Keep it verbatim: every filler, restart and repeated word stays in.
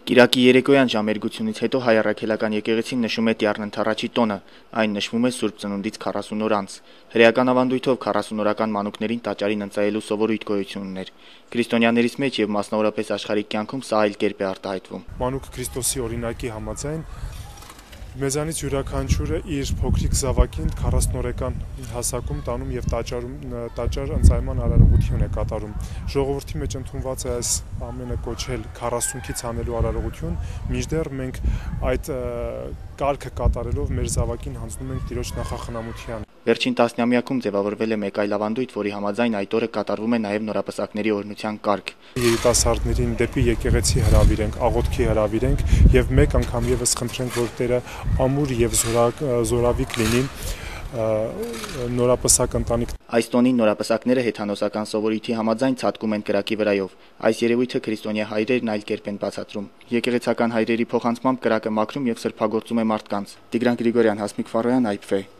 Կիրակի երեկոյան ժամերգությունից հետո հայ առաքելական եկեղեցին նշում է Տյառն Ընդառաջի տոնը, այն նշվում է Սուրբ Ծնունդից քառասուն օր անց։ Հրեական ավանդույթով քառասունօրական մանուկներին տաճարին ընծայելու սովորույթ գոյություն ուներ։ Քրիստոնյաներից մեջ եւ մասնավորապես աշխարհիկ կյանքում սա այլ կերպ է արտահայտվում։ Մանուկ Քրիստոսի օրինակի համաձայն մեզանից յուրաքանչյուրը իր փոքրիկ զավակին քառասունօրական հասակում տանում եւ տաճարում տաճար ընծայման արարողություն է կատարում։ Ժողովրդի մեջ ընդունված է այս ամենը կոչել քառասունքից անելու արարողություն, մինչդեռ մենք այդ կարգը կատարելով մեր զավակին հանձնում ենք Տիրոջ նախախնամության։ Վերջին տասնամյակում ձևավորվել է մեկ այլ ավանդույթ, որի համաձայն այդ օրը կատարվում է նաև նորապսակների օրհնության կարգ։ Երիտասարդներին դեպի եկեղեցի հրավիրենք, աղոթքի հրավիրենք եւ մեկ անգամ եւս խնդրենք, որ Տերը ամուր եւ զորավիկ լինի նորապսակ ընտանիք։ Այս տոնին նորապսակները հեթանոսական սովորույթի համաձայն ցատկում են կրակի վրայով։ Այս երևույթը քրիստոնյա հայրերն այլ կերպ են բացատրում։ Եկեղեցական հայրերի փոխանցմամբ կրակը մաքրում եւ սրբագործում է մարդկանց։ Տիգրան Գրիգորյան, Հասմիկ Ֆարոյան, Այփ Ֆ։